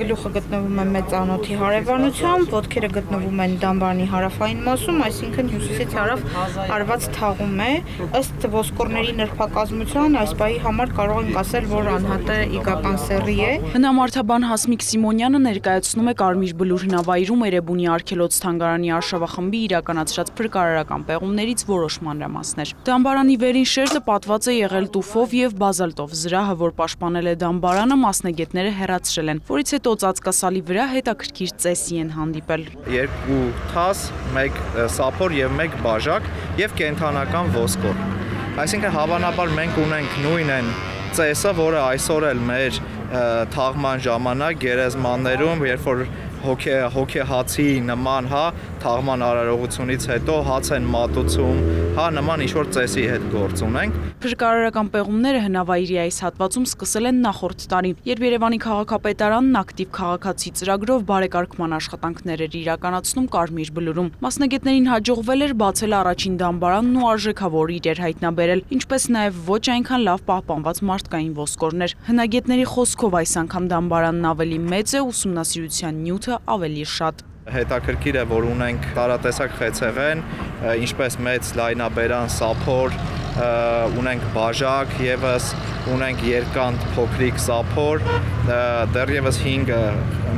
Գլուխը գտնվում է մեծ անոթի հարևանությամբ, ոտքերը գտնվում են դամբարանի հարավային մասում, այսինքն հյուսիսից հարավ արված թաղում է։ Ըստ ոսկորների նրբակազմության այս պահի համար կարող ենք ասել, որ անհատը իգական սեռի է։ Հնամարդաբան Հասմիկ Սիմոնյանը ներկայացնում է Կարմիր Բլուր հնավայրում Էրեբունի արգելոց թանգարանի արշավախմբի իրականացրած փրկարարական պեղումներից որոշ մանրամասներ։ Դամբարանի վերին շերտը պատված է եղել տուֆով եւ բազալտով, զրահը, որ պաշտպանել է դամբարանը, մասնագետները հեռացրել են, որից հետո ծածկասալի վրա հետաքրքիր ծեսի են հանդիպել։ 2 թաս, 1 սափոր եւ 1 բաժակ եւ կենթանական ոսկոր։ Այսինքն հավանաբար մենք ունենք նույն ծեսը, որը այսօր էլ մեր թաղման ժամանակ գերեզմաններում, երբ որ հոգեհացի նման, թաղման արարողությունից հետո հաց են մատուցում, նման ինչ-որ ծեսի հետ գործ ունենք։ Փրկարարական պեղումները հնավայրի այս հատվածում սկսել են նախորդ տարի, երբ Երևանի քաղաքապետարանն ակտիվ քաղաքացի ծրագրով բարեկարգման աշխատանքներ էր իրականացնում Կարմիր Բլուրում։ Մասնագետներին հաջողվել էր բացել առաջին դամբարանն ու արժեքավոր իրեր հայտնաբերել, ինչպես նաև ոչ այնքան լավ պահպանված մարդկային ոսկորներ։ Հնագետների խոսքով այս անգամ դամբարանն ավելի մեծ է, ուսումնասիրության նյութը ավելի շատ։ Հետաքրքիր է, որ ունենք տարատեսակ խեցեղեն, ինչպես մեծ լայնաբերան սափոր, ունենք բաժակ, եւս ունենք երկանդ փոքրիկ սափոր, դեռևս 5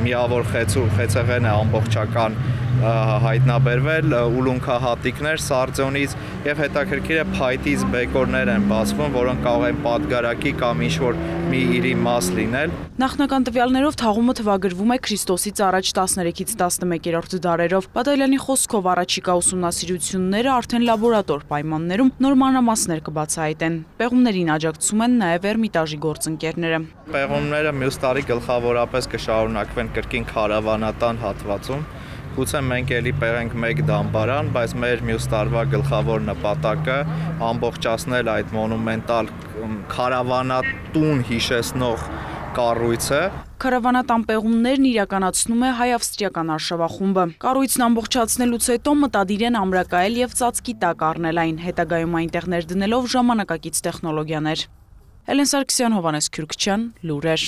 միավոր խեցեղեն է ամբողջական հայտնաբերվել, ուլունքահատիկներ սարձոնից եւ հետաքրքիր է փայտից բեկորներ են բացվում, որոնք կարող են պատգարակի կամ ինչ-որ մի իրի մաս լինել։ Նախնական տվյալներով թաղումը թվագրվում է Քրիստոսից առաջ 13-ից 11-րդ դարերով։ Բադայլյանի խոսքով առաջիկա ուսումնասիրությունները արդեն լաբորատոր պայմաններում նոր մանրամասներ կբացահայտեն։ Պեղումներին աջակցում են նաև Էրմիտաժի գործընկերները։ Պեղումները մյուս տարի գլխավորապես կշարունակվեն կրկին քարավանատան հատվածում։ Գուցե մենք էլի պեղենք 1 դամբարան, բայց մեր մյուս տարվա գլխավոր նպատակը ամբողջացնել այդ մոնումենտալ քարավանատուն հիշեցնող կառույցը։ Քարավանատան պեղումներն իրականացնում է հայ-ավստրիական արշավախումբը։ Կառույցն ամբողջացնելուց հետո մտադիր են ամրակայել եւ ծածկի տակ առնել այն, հետագայում այնտեղ ներդնելով ժամանակակից տեխնոլոգիաներ։ Էլեն Սարգսյան, Հովհաննես Քյուրքչյան, լուրեր։